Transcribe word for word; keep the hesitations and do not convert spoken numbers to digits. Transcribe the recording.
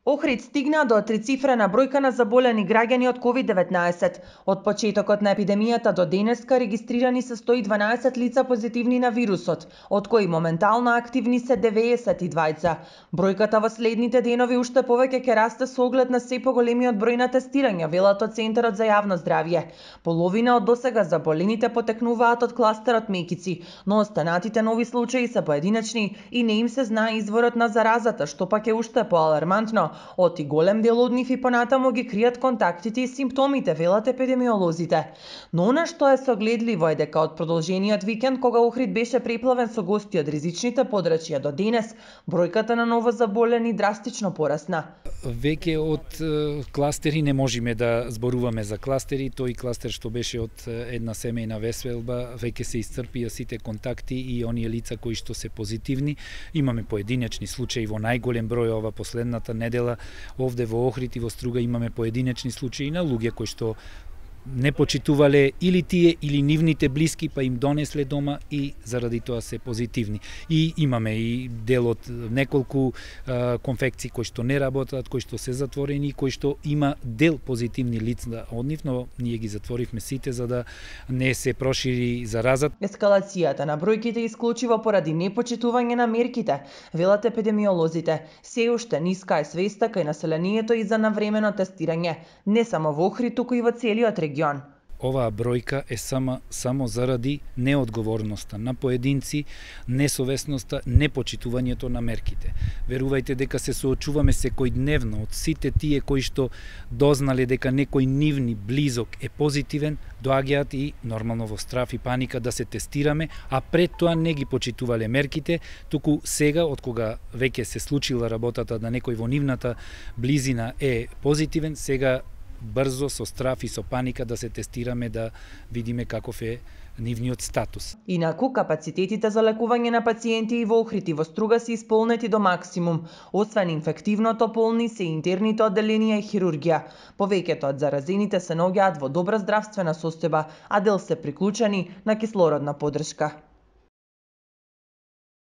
Охрид стигна до трицифрена бројка на заболени граѓани од ковид деветнаесет. Од почетокот на епидемијата до денеска регистрирани се сто и дванаесет лица позитивни на вирусот, од кои моментално активни се деветдесет и двајца. Бројката во следните денови уште повеќе ќе расте со оглед на се поголемиот број на тестирања, велат од Центарот за јавно здравје. Половина од досега заболените потекнуваат од кластерот Мекици, но останатите нови случаи се поединечни и не им се знае изворот на заразата, што пак е уште поалармантно. Оти голем дел од нив и понатаму ги кријат контактите и симптомите, велат епидемиолозите. Но она што е согледливо е дека од продолжениот викенд, кога Охрид беше преплавен со гости од ризичните подрачја до денес, бројката на новозаболени драстично порасна. Веќе од кластери не можеме да зборуваме за кластери, тој кластер што беше од една семејна веселба, веќе се исцрпија сите контакти и оние лица кои што се позитивни. Имаме поединечни случаи во најголем број ова последната недела. Овде во Охрид и во Струга имаме поединечни случаи на луѓе кои што не почитувале или тие или нивните блиски, па им донесле дома и заради тоа се позитивни. И имаме и дел од неколку а, конфекции кои што не работат, кои што се затворени, кои што има дел позитивни лица од нив, но ние ги затворивме сите за да не се прошири заразат. Ескалацијата на бројките исклучиво поради непочитување на мерките, велат епидемиолозите. Се уште ниска е свеста кај населението и за навремено тестирање, не само во Охрид, туку и во целиот регион. Оваа бројка е само, само заради неодговорноста на поединци, несовесноста, непочитувањето на мерките. Верувајте дека се соочуваме секојдневно од сите тие кои што дознале дека некој нивни близок е позитивен, доаѓаат и нормално во страф и паника да се тестираме, а пред тоа не ги почитувале мерките, туку сега, од кога веќе се случила работата да некој во нивната близина е позитивен, сега брзо, со страф и со паника да се тестираме, да видиме каков е нивниот статус. Инаку, капацитетите за лекување на пациенти и во Охрид и во Струга се исполнети до максимум. Освен инфективното, полни се интерните одделенија и хирургија. Повеќето од заразените се наоѓаат во добра здравствена состојба, а дел се приклучени на кислородна поддршка.